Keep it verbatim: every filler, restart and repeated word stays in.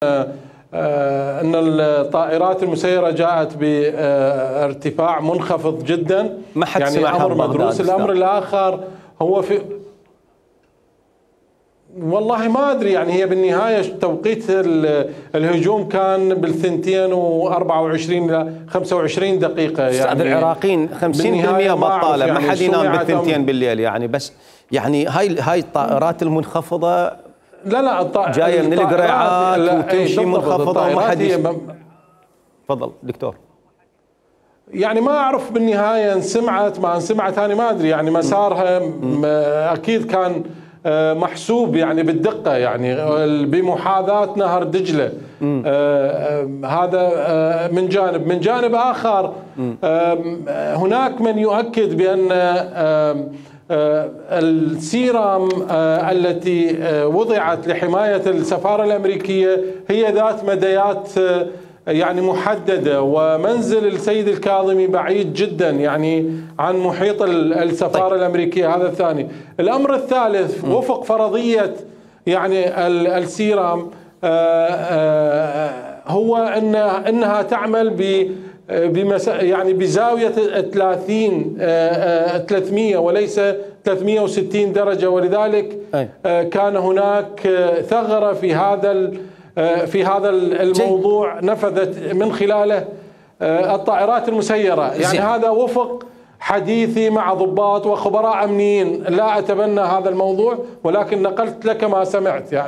أن الطائرات المسيرة جاءت بارتفاع منخفض جدا، ما حد يعني سمع أمر مدروس. الأمر الآخر هو في والله ما أدري، يعني هي بالنهاية توقيت الهجوم كان بالثنتين وأربعة وعشرين إلى خمسة وعشرين دقيقة. يعني أستاذ العراقيين خمسين بالمئة بطالة، ما حد ينام بالثنتين بالليل يعني. بس يعني هاي هاي الطائرات المنخفضة لا لا الطائرات جاية من القريعات وتمشي منخفضة وما حد. تفضل دكتور. يعني ما أعرف بالنهاية انسمعت ما انسمعت، أنا ما أدري يعني مسارها أكيد كان محسوب يعني بالدقة، يعني بمحاذاة نهر دجلة. هذا من جانب. من جانب آخر هناك من يؤكد بأن السيرام التي وضعت لحماية السفارة الأمريكية هي ذات مديات يعني محددة، ومنزل السيد الكاظمي بعيد جدا يعني عن محيط السفارة طيب. الأمريكية. هذا الثاني. الأمر الثالث م. وفق فرضية يعني السيرام هو أن أنها تعمل ب بمس يعني بزاوية ثلاثين ثلاثمئة وليس ثلاثمئة وستين درجة، ولذلك أي. كان هناك ثغرة في هذا في هذا الموضوع نفذت من خلاله الطائرات المسيرة. يعني هذا وفق حديثي مع ضباط وخبراء أمنيين، لا أتبنى هذا الموضوع ولكن نقلت لك ما سمعت يعني.